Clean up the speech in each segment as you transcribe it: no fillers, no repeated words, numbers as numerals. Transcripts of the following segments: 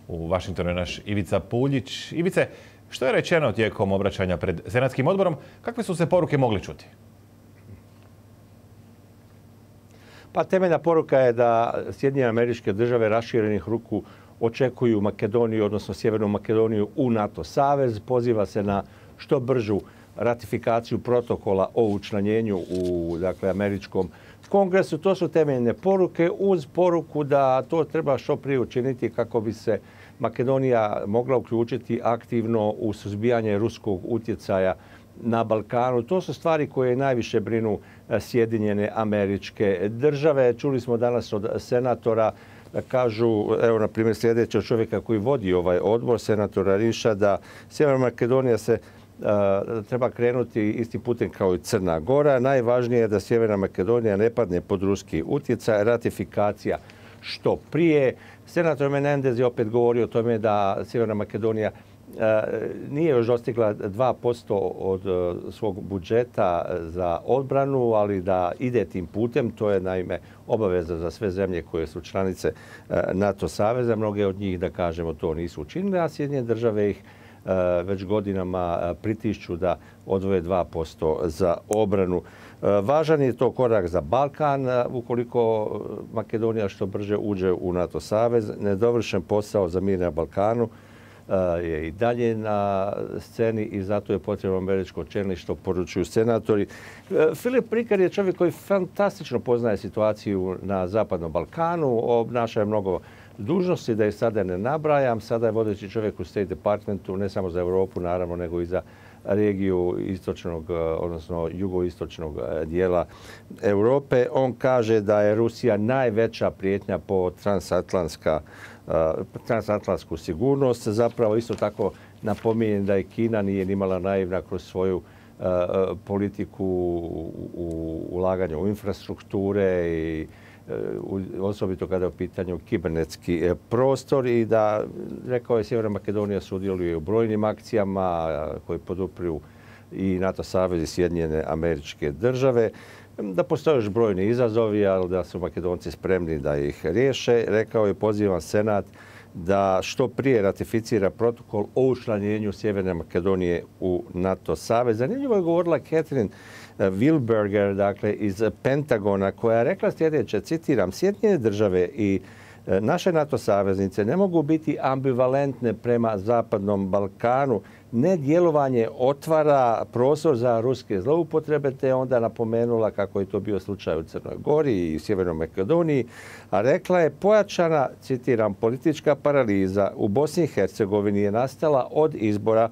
U Vašingtonu je naš Ivica Puljić. Ivice, što je rečeno tijekom obraćanja pred Senatskim odborom? Kakve su se poruke mogle čuti? Pa temeljna poruka je da Sjedinjene Američke Države raširenih ruku očekuju Makedoniju, odnosno Sjevernu Makedoniju u NATO savez. Poziva se na što bržu ratifikaciju protokola o učlanjenju u američkom kongresu. To su temeljne poruke uz poruku da to treba što prije učiniti kako bi se Makedonija mogla uključiti aktivno u suzbijanje ruskog utjecaja na Balkanu. To su stvari koje najviše brinu Sjedinjene Američke Države. Čuli smo danas od senatora da kažu, evo na primjer sljedećeg čovjeka koji vodi ovaj odbor, senatora Riša, da Sjeverna Makedonija se treba krenuti istim putem kao i Crna Gora. Najvažnije je da Sjeverna Makedonija ne padne pod ruski utjecaj, ratifikacija što prije. Senator Menendez je opet govorio o tome da Sjeverna Makedonija nije još dostigla 2% od svog budžeta za odbranu, ali da ide tim putem. To je naime obaveza za sve zemlje koje su članice NATO saveza. Mnoge od njih, da kažemo, to nisu učinile, a Sjedinjene Države ih već godinama pritišću da odvoje 2% za obranu. Važan je to korak za Balkan ukoliko Makedonija što brže uđe u NATO savez. Nedovršen posao za mir na Balkanu je i dalje na sceni i zato je potrebno američko čelništvo, poručuju senatori. Filip Rikard je čovjek koji fantastično poznaje situaciju na Zapadnom Balkanu, obnaša je mnogo dužnosti, da je sada ne nabrajam. Sada je vodeći čovjek u State Departmentu, ne samo za Europu, naravno, nego i za regiju istočnog, odnosno jugoistočnog dijela Europe. On kaže da je Rusija najveća prijetnja po transatlantsku sigurnost. Zapravo isto tako napominjem da i Kina nije nimala naivna kroz svoju politiku u ulaganju u infrastrukture i osobito kada je u pitanju kibernetski prostor i da, rekao je, Sjeverna Makedonija sudjeluje u brojnim akcijama koje podupiru i NATO savez i Sjedinjene Američke Države. Da postoje još brojni izazovi, ali da su Makedonci spremni da ih riješe. Rekao je, pozivam Senat da što prije ratificira protokol o učlanjenju Sjeverne Makedonije u NATO savez. Zanimljivo je govorila Catherine Wilberger, dakle iz Pentagona, koja je rekla sljedeće, citiram: Sjedinjene Države i naše NATO saveznice ne mogu biti ambivalentne prema Zapadnom Balkanu. Nedjelovanje otvara prostor za ruske zloupotrebe, te onda napomenula kako je to bio slučaj u Crnoj Gori i Sjevernoj Makedoniji, a rekla je, pojačana, citiram, politička paraliza u Bosni i Hercegovini je nastala od izbora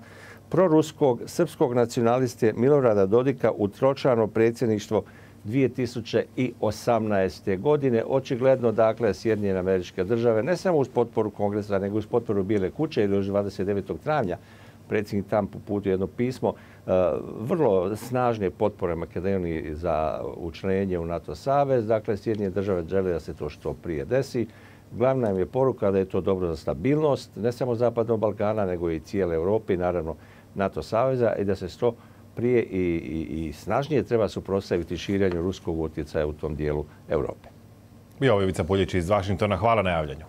proruskog srpskog nacionaliste Milorada Dodika u tročlano predsjedništvo 2018. godine. Očigledno, dakle, Sjedinjene Američke Države, ne samo uz potporu Kongresa, nego uz potporu Bijele kuće, ili još 29. travnja predsjednik Trump uputio jedno pismo vrlo snažne potpore Makedoniji za učlanjenje u NATO savez. Dakle, Sjedinjene Države žele da se to što prije desi. Glavna im je poruka da je to dobro za stabilnost, ne samo Zapadnog Balkana, nego i cijele Europe i naravno NATO saveza, i da se što prije i snažnije treba suprotstaviti širenju ruskog utjecaja u tom dijelu Europe. Bio je Ivica Puljić iz Vašingtona. Hvala na javljanju.